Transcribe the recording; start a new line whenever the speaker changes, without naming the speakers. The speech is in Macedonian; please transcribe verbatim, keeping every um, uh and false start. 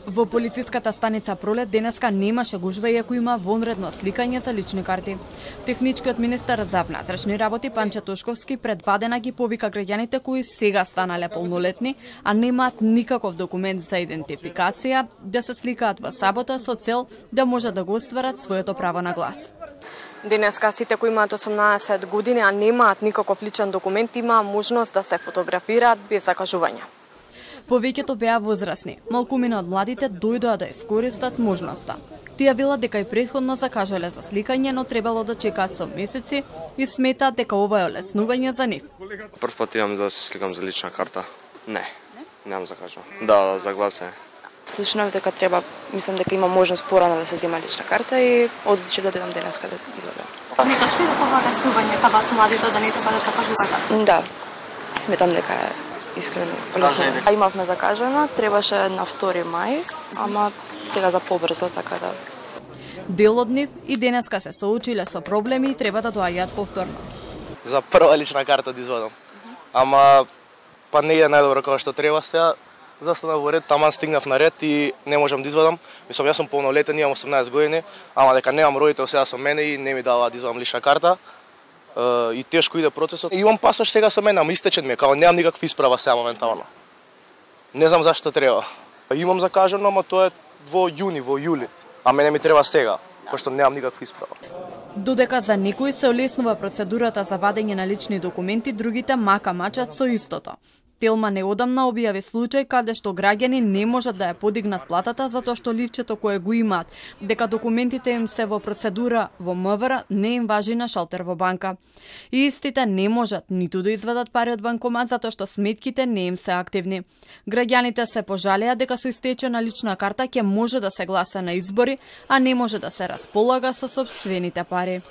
Во полициската станица Пролет денеска немаше гужва иако има вонредно сликање за лични карти. Техничкиот министер за внатрешни работи Панче Тошковски предвадена ги повика граѓаните кои сега станале полнолетни, а немаат никаков документ за идентификација, да се сликаат во сабота со цел да можат да го остварат своето право на глас. Денеска сите кои имаат осумнаесет години, а немаат никаков личен документ, има можност да се фотографираат без закажување. Повеќето беа возрасни. Малкумина од младите дојдоа да искористат можноста. Тие велат дека и претходно закажале за сликање, но требало да чекаат со месеци и сметаат дека ова е олеснување за нив.
Прв пат имам да се сликам за лична карта. Не, немам закажувам. Да, за гласење.
Слушнав дека треба, мислам дека има можност порано да се зема лична карта и одлучив да дојдам денеска да извадам.
Сметаш ли дека ова олеснување кај вас младите да не треба да закажувате?
Да, сметам дека е искрено олеснување. Имавме закажано, требаше на втори мај, ама сега за побрзо, така да.
Дел од нив и денеска се соочиле со проблеми и треба да доаѓаат повторно.
За прва лична карта да извадам. Ама па не е најдобро како што треба сега. Застанав во ред, таман стигнав на ред и не можам да извадам. Мислам, јас сум полнолетен, имам осумнаесет години, ама дека немам родител сега со мене и не ми даваат да извадам лична карта. И тешко иде процесот. И имам пасош сега со мене, ама истечен ми е, као немам никаква исправа сега моментално. Не знам зашто треба. Имам закажано, ама тоа е во јуни, во јули. А мене ми треба сега, пошто немам никаква исправа.
Додека за некои се олеснува процедурата за вадење на лични документи, другите мака мачат со истото. Телма неодамна објави случај каде што граѓани не можат да ја подигнат платата затоа што ливчето кое го имаат, дека документите им се во процедура во МВР, не им важи на шалтер во банка. И истите не можат ниту да извадат пари од банкомат затоа што сметките не им се активни. Граѓаните се пожалеа дека со истечена лична карта ќе може да се гласа на избори, а не може да се располага со сопствените пари.